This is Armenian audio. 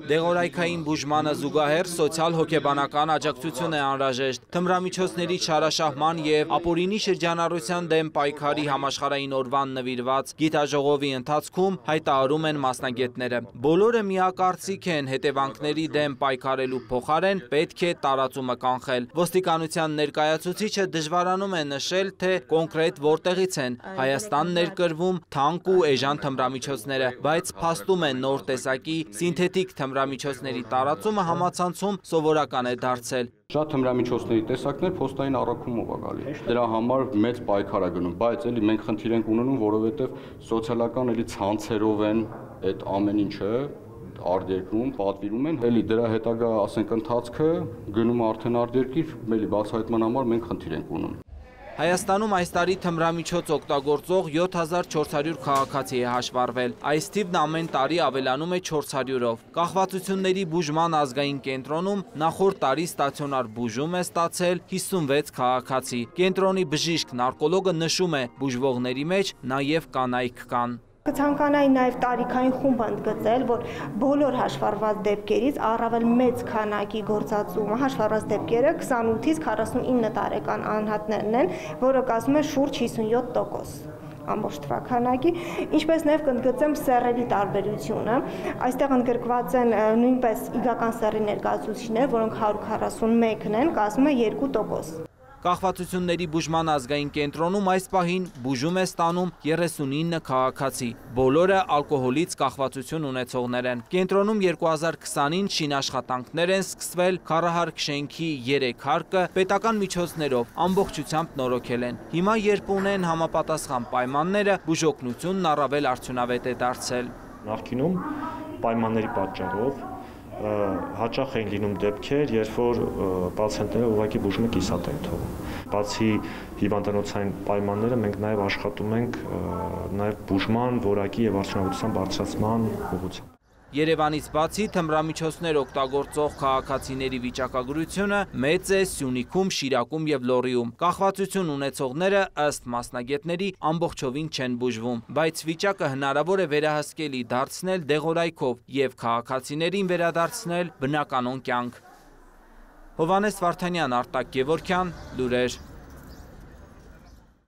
Դեղորայքային բուժմանը զուգահեռ սոցիալ-հոգեբանական աջակցություն է անհրաժեշտ։ Թմրամիջոցների չարաշահման և ապօրինի շրջանառության դեմ պայքարի համաշխարհային օրվան նվիրված գիտաժողովի ընթացքում հայտարարում են մասնագետները։ Բոլորը միակարծիք են, հետևանքների դեմ պայքարելու փոխարեն պետք է տարածումը կանխել։ Ոստիկանության ներկայացուցիչը դժվարանում է նշել, թե կոնկրետ որտեղից են Հայաստան ներկրվում թանկ ու էժան թմրամիջոցները, բայց փաստում է նոր տեսակի սինթետիկ թմրամիջոցների տարածումը համացանցում սովորական է դարձել։ Շատ թմրամիջոցների տեսակներ փոստային առաքումով է գալի։ Դրա համար մեծ պայքար է գնում, բայց էլի մենք խնդիր ենք ունենում, որովհետև սոցիալական էլի ցանցերով են այդ ամեն ինչը արտերկրում պատվիրում են, էլի դրա հետագա ասենք ընթացքը գնում արդեն արտերկիր, էլի բացահայտման համար մենք խնդիր ենք ունում։ Հայաստանում այս տարի թմրամիջոց օգտագործող 7400 քաղաքացի է հաշվառվել։ Այս թիվն ամեն տարի ավելանում է 400-ով։ Կախվածությունների բուժման ազգային կենտրոնում նախորդ տարի ստացիոնար բուժում է ստացել 56 քաղաքացի։ Կենտրոնի բժիշկ նարկոլոգը նշում է, բուժվողների մեջ նաև կանայք կան։ Կցանկանայի նաև տարիքային խումբ ընդգծել, որ բոլոր հաշվառված դեպքերից առավել մեծ քանակի գործածումը հաշվառված դեպքերը 28-ից 49 տարեկան անհատներն են, որը կազմում է շուրջ 57%։ Ամբողջ թվականակի, ինչպես նաև կընդգծեմ սեռերի տարբերությունը, այստեղ ընդգրկված են նույնպես իգական սեռի ներկայացուցիչներ, որոնք 141-ն են, կազմում է 2%։ Կախվածությունների բուժման ազգային կենտրոնում այս պահին բուժում է ստանում 39 քաղաքացի։ Բոլորը ալկոհոլից կախվածություն ունեցողներ են։ Կենտրոնում 2020-ին շինաշխատանքներ են սկսվել, քառահարկ շենքի 3 հարկը պետական միջոցներով ամբողջությամբ նորոգել են։ Հիմա երբ ունեն համապատասխան պայմանները, բուժօգնությունն առավել արդյունավետ է դարձել։ Նախկինում պայմանների պատճառով հաճախ էին լինում դեպքեր, երբ որ պացիենտները ուղղակի բուժումը կիսատ են թողում։ Բացի հիվանդանոցային պայմանները, մենք նաև աշխատում ենք նաև բուժման որակի եւ արդյունավետության բարձրացման ուղղությամբ։ Երևանից բացի թմրամիջոցներ օգտագործող քաղաքացիների վիճակագրությունը մեծ է Սյունիքում, Շիրակում եւ Լոռիում։ Կախվածություն ունեցողները ըստ մասնագետների ամբողջովին չեն բուժվում, բայց վիճակը հնարավոր է վերահսկելի դարձնել դեղորայքով եւ քաղաքացիներին վերադարձնել բնականոն կյանք։ Հովհաննես Վարդանյան, Արտակ Գևորգյան, լուրեր։